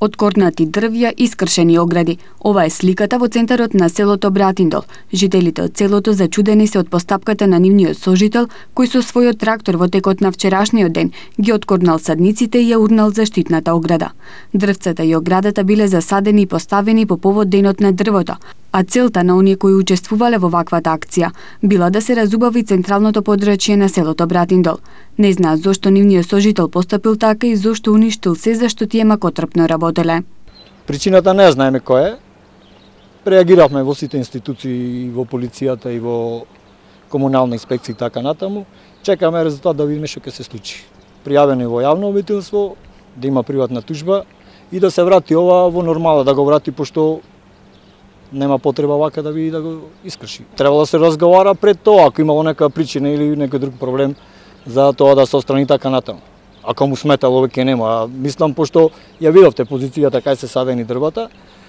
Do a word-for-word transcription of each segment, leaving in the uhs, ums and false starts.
Откорнати дрвја, искршени огради. Ова е сликата во центарот на селото Братиндол. Жителите од селото зачудени се од постапката на нивниот сожител, кој со својот трактор во текот на вчерашниот ден ги откорнал садниците и ја урнал заштитната ограда. Дрвцата и оградата биле засадени и поставени по повод денот на дрвото, а целта на оние кои учествувале во ваквата акција била да се разубави централното подрачје на селото Братиндол. Не знаат зошто нивниот сожител постапил така и зошто уништил се за што тие макотрпно работеле. Причината не знаеме која е. Реагиравме во сите институции, и во полицијата и во комунална инспекција и така натаму. Чекаме резултат да видиме што ќе се случи. Пријавено во јавно обвинителство, да има приватна тужба и да се врати ова во нормала, да го врати, пошто нема потреба вака да види да го искрши. Требало да се разговара пред тоа, ако имало нека причина или некој друг проблем за тоа да се отстрани така натаму. Ако му сметало, веќе нема. Мислам, пошто ја видовте позицијата кај се садени дрвата,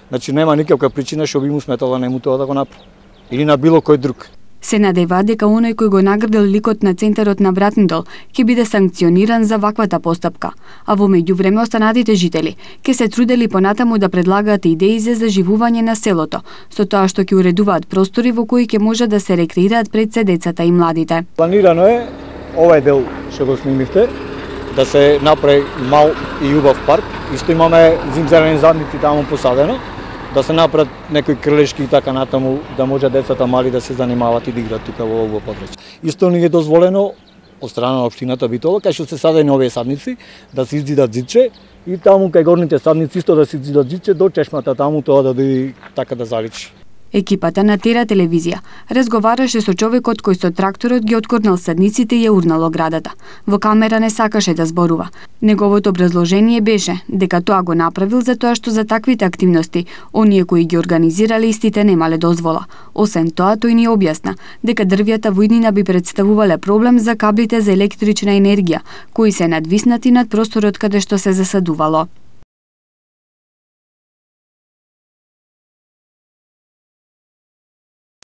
значи нема никаква причина што би му сметало нему тоа да го направи. Или на било кој друг. Се надева дека оној кој го наградил ликот на центарот на Братиндол ќе биде санкциониран за ваквата постапка, а во меѓувреме останатите жители ќе се трудели понатаму да предлагаат идеи за заживување на селото, со тоа што ќе уредуваат простори во кои ќе може да се рекреираат пред се децата и младите. Планирано е овој дел што го снимивте да се направи мал и убав парк. Исто имаме зимзелени задници таму посадено, да се направат некои крилешки и така натаму, да може децата мали да се занимаваат и да играат тука во овој подрачје. Исто ни е дозволено од страна на општината Битола, кај што се садени овие садници, да се изидат зидче и таму кај горните садници исто да се изидат зидче до чешмата таму, тоа да биде така да заличи. Екипата на Тера телевизија разговараше со човекот кој со тракторот ги откорнал садниците и ја урнал оградата. Во камера не сакаше да зборува. Неговото образложение беше дека тоа го направил за тоа што за таквите активности оние кои ги организирале истите немале дозвола. Освен тоа, тој ни објасна дека дрвјата во иднина би представувале проблем за каблите за електрична енергија, кои се надвиснати над просторот каде што се засадувало.